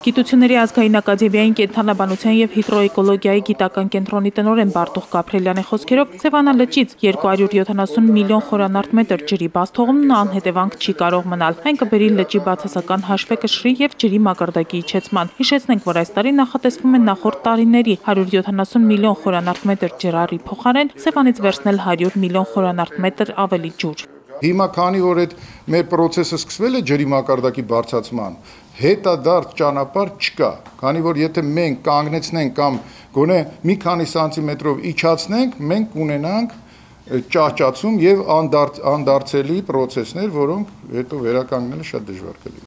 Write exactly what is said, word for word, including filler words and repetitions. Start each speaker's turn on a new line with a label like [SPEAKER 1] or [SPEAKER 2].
[SPEAKER 1] Գիտությունների ազգային ակադեմիային կենդանաբանության և հիդրոէկոլոգիայի գիտական կենտրոնի տնօրեն Բարտուղ Գաբրելյանի խոսքերով Սևանա լճից երկու հարյուր յոթանասուն միլիոն խորանարդ մետր ջրի բաց թողումն անհետևանք չի կարող մնալ։ Այն կբերի լճի բացասական հաշվեկշռի և ջրի մակարդակի իջեցման։ Հիշեցնենք, որ այս տարի նախատեսվում է նախորդ տարիների հարյուր յոթանասուն միլիոն խորանարդ մետր ջրառի փոխարեն Սևանից վերցնել հարյուր միլիոն խորանարդ մետր ավելի ջուր։
[SPEAKER 2] Հիմա քանի որ այդ մեր process-ը սկսվել է ջրի մակարդակի բարձրացման, հետադարձ ճանապարհ չկա, քանի որ եթե մենք կանգնեցնենք կամ գոնե մի քանի սանտիմետրով իջացնենք, մենք կունենանք ճահճացում եւ անդարձելի process-ներ, որոնք հետո վերականգնելը շատ դժվար կլինի։